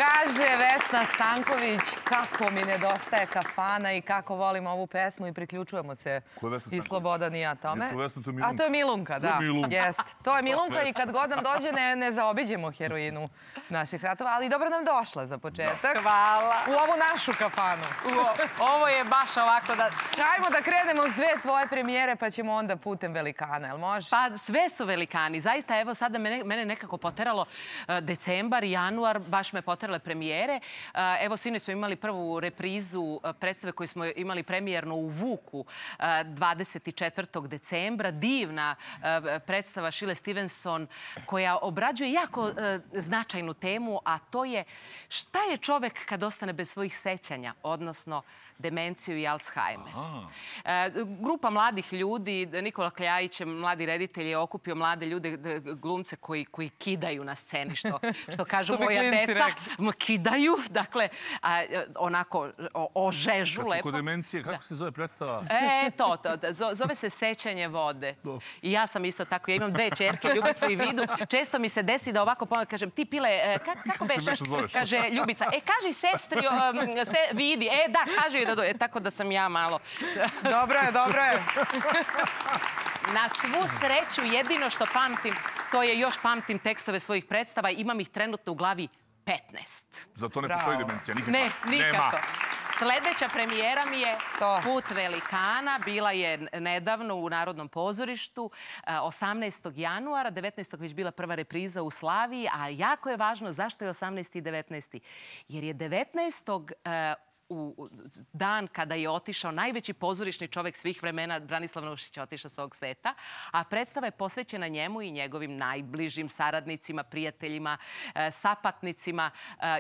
Kaže Vesna Stanković kako mi nedostaje kafana i kako volim ovu pesmu i priključujemo se i Slobodan i ja tome. A to je Milunka, da. Jest. To je Milunka i kad god nam dođe ne zaobiđemo heroinu naših ratova, ali dobro nam došla za početak. Hvala. U ovu našu kafanu. Ovo je baš ovako da... Hajmo da krenemo s dve tvoje premijere pa ćemo onda putem velikana, jel može? Pa sve su velikani. Zaista, evo sada mene nekako poteralo decembar, januar, baš me poterale premijere. Evo, sinoć smo imali prvu reprizu predstave koju smo imali premijerno u Vuku 24. decembra. Divna predstava Šile Stevenson koja obrađuje jako značajnu temu, a to je šta je čovek kad ostane bez svojih sećanja, odnosno demenciju i Alzheimer. Grupa mladih ljudi, Nikola Kljajić, mladi reditelj, je okupio mlade ljude, glumce koji kidaju na sceni, što kažu moja deca. Kidaju, dakle, onako ožežu lepo. Kad su kod demencije, kako se zove predstava? To. Zove se Sećanje vode. I ja sam isto tako, ja imam dve čerke, Ljubicu i Vidu. Često mi se desi da ovako kažem, ti Pile, kako beše? Kaže Ljubica, kaži sestri Vidi, da, kaži joj da dođe. Tako da sam ja malo... Dobro je. Na svu sreću, jedino što pamtim, to je još pamtim tekstove svojih predstava. Imam ih trenutno u glavi 15. Zato ne postoji demencija? Ne, nikako. Sljedeća premijera mi je Put velikana. Bila je nedavno u Narodnom pozorištu 18. januara. 19. već bila prva repriza u Slaviji. A jako je važno zašto je 18. i 19. Jer je 19. u dan kada je otišao najveći pozorišni čovek svih vremena, Branislav Nušić, je otišao s ovog sveta, a predstava je posvećena njemu i njegovim najbližim saradnicima, prijateljima, sapatnicima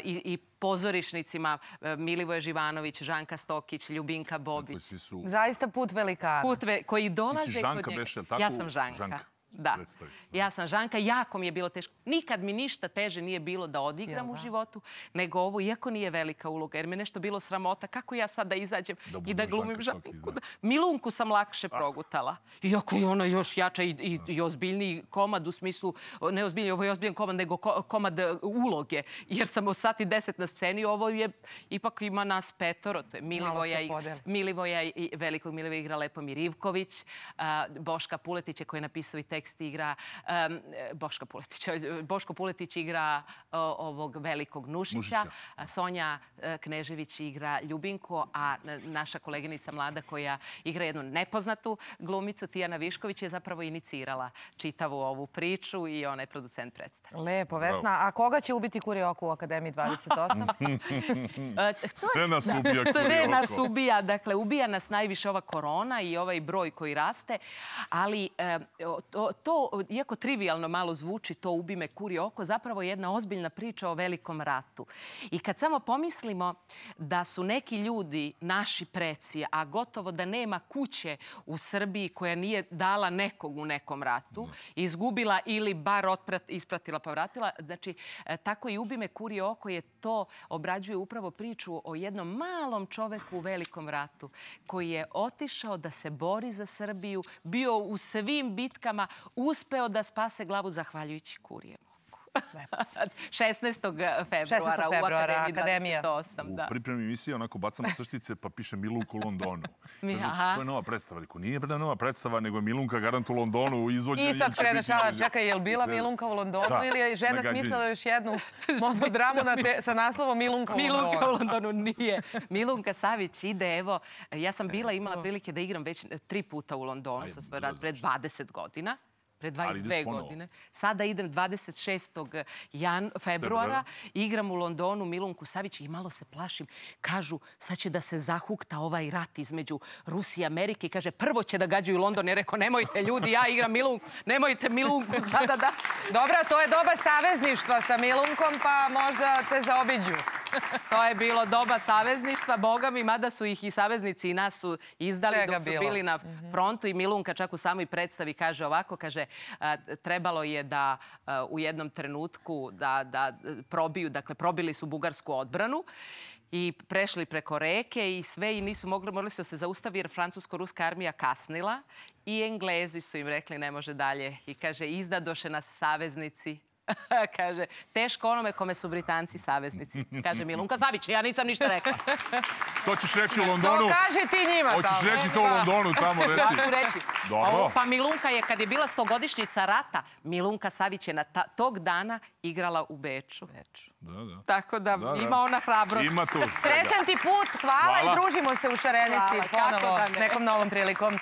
i pozorišnicima Milivoje Živanović, Žanka Stokić, Ljubinka Bobić. Zaista Put velikana. Koji dolaze kod njega. Ti si Žanka, beš, je li tako? Ja sam Žanka. Da, ja sam Žanka, jako mi je bilo teško. Nikad mi ništa teže nije bilo da odigram u životu, nego ovo, iako nije velika uloga, jer mi je nešto bilo sramota. Kako ja sad da izađem i da glumim Žanku? Milunku sam lakše progutala. Iako je ona još jača i ozbiljniji komad u smislu, ne ozbiljniji, ovo je ozbiljan komad, nego komad uloge. Jer sam o 1:10 na sceni, ovo je, ipak ima nas petoro. To je Milivoja i velikog Milivoja igra Lepomir Ivković, Boška Puletića koji je napisao i tekst igra Boško Puletić igra ovog velikog Nušića. Sonja Knežević igra Ljubinku, a naša koleginica mlada koja igra jednu nepoznatu glumicu, Tijana Višković, je zapravo inicirala čitavu ovu priču i ona je producent predstave. Lepo, Vesna. A koga će ubiti Kurioku u Akademiji 28? Sve nas ubija Kurioku. Sve nas ubija. Dakle, ubija nas najviše ova korona i ovaj broj koji raste, ali to, iako trivialno malo zvuči, to ubi me kurje oko, zapravo je jedna ozbiljna priča o velikom ratu. I kad samo pomislimo da su neki ljudi, naši preci, a gotovo da nema kuće u Srbiji koja nije dala nekog u nekom ratu, izgubila ili bar ispratila pa vratila, znači, tako i ubi me kurje oko je to, obrađuje upravo priču o jednom malom čoveku u velikom ratu koji je otišao da se bori za Srbiju, bio u svim bitkama, uspeo da spase glavu zahvaljujući Kurjem oku. 16. februara u Akademiji 28. U pripremi emisije onako bacamo crtice pa piše Milunka u Londonu. To je nova predstava. Nije nova predstava, nego je Milunka garant u Londonu. I sad kreneš, čekaj, je li bila Milunka u Londonu ili je žena smislila još jednu monodramu sa naslovom Milunka u Londonu? Milunka u Londonu nije. Milunka Savić ide, evo, ja sam imala prilike da igram već 3 puta u Londonu sa svoj rad pred 20 godina. Pre 22 godine. Sada idem 26. februara, igram u Londonu Milunku Savić i malo se plašim. Kažu, sad će da se zahukta ovaj rat između Rusije i Amerike i kaže, prvo će da gađaju London. I rekao, nemojte ljudi, ja igram Milunku, nemojte Milunku sada da... Dobro, to je doba savezništva sa Milunkom, pa možda te zaobiđu. To je bilo doba savezništva, boga mi, mada su ih i saveznici i nas su izdali dok su bili na frontu i Milunka čak u samoj predstavi kaže ovako, kaže, trebalo je da u jednom trenutku da probiju, dakle probili su bugarsku odbranu i prešli preko reke i sve i nisu morali su se zaustaviti jer francusko-ruska armija kasnila i Englezi su im rekli ne može dalje i kaže izdadoše nas saveznici Kaže, teško onome kome su Britanci saveznici. Kaže Milunka Savić, ja nisam ništa rekla. To ćeš reći u Londonu. To kaži ti njima tamo. Hoćeš reći to u Londonu tamo, reci. Ja ću reći. Dobro. Pa Milunka je, kad je bila 100-godišnjica rata, Milunka Savić je tog dana igrala u Beču. Tako da ima ona hrabrost. Ima tu. Srećan ti put, hvala i družimo se u Šarenici ponovo nekom novom prilikom.